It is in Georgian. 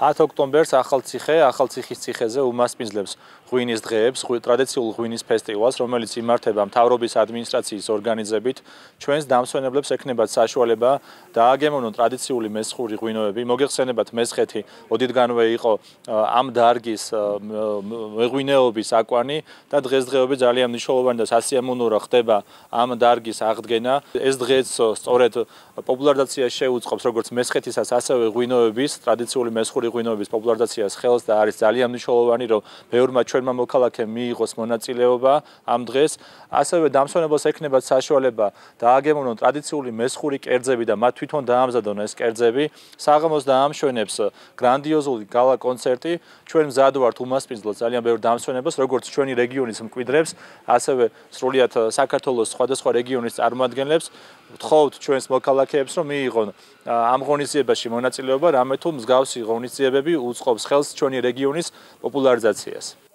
10 ოქტომბერს ახალციხის ციხეზე უმასპინძლებს ღვინის დღეებს, ტრადიციულ ღვინის ფესტივალს, რომელიც იმართება მთავრობის ადმინისტრაციის ორგანიზებით. ჩვენს დამსვენებლებს ექნებათ საშუალება დააგემოვნონ ტრადიციული მესხური ღვინოები. მოგეხსენებათ, მესხეთი ოდითგანვე იყო ამ დარგის მეღვინეობის აკვანი და დღესდღეობით ძალიან მნიშვნელოვანი და სასიამოვნოა ხდება ამ დარგის აღდგენა. ეს დღეც სწორედ პოპულარიზაციას შეუწყობს როგორც მესხეთისაც, ასევე ღვინოების, ტრადიციული მესხური ღვინოების პოპულარიზაციას ხელს და არის ძალიან მნიშვნელოვანი, რომ ბევრმა ჩვენმა მოქალაქემ მიიღოს მონაწილეობა ამ დღეს. ასევე დამსვენებელს ექნებათ საშუალება დააგემოვნონ ტრადიციული მესხური კერძები და მათ თვითონ დაამზადონ ეს კერძები. საღამოს დაამშვენებს გრანდიოზული გალა კონცერტი. ჩვენ მზად ვართ უმასპინძლოთ ძალიან ბევრ დამსვენებელს, როგორც ჩვენი რეგიონის მკვიდრებს, ასევე სრულიად საქართველოს სხვადასხვა რეგიონის წარმომადგენლებს. ვთხოვთ ჩვენს მოქალაქეებს, რომ მიიღონ ამ ღონისძიებაში მონაწილეობა, რამე თუ მსგავსი ღონისძიებები უწყობს ხელს ჩვენი რეგიონის პოპულარიზაციას.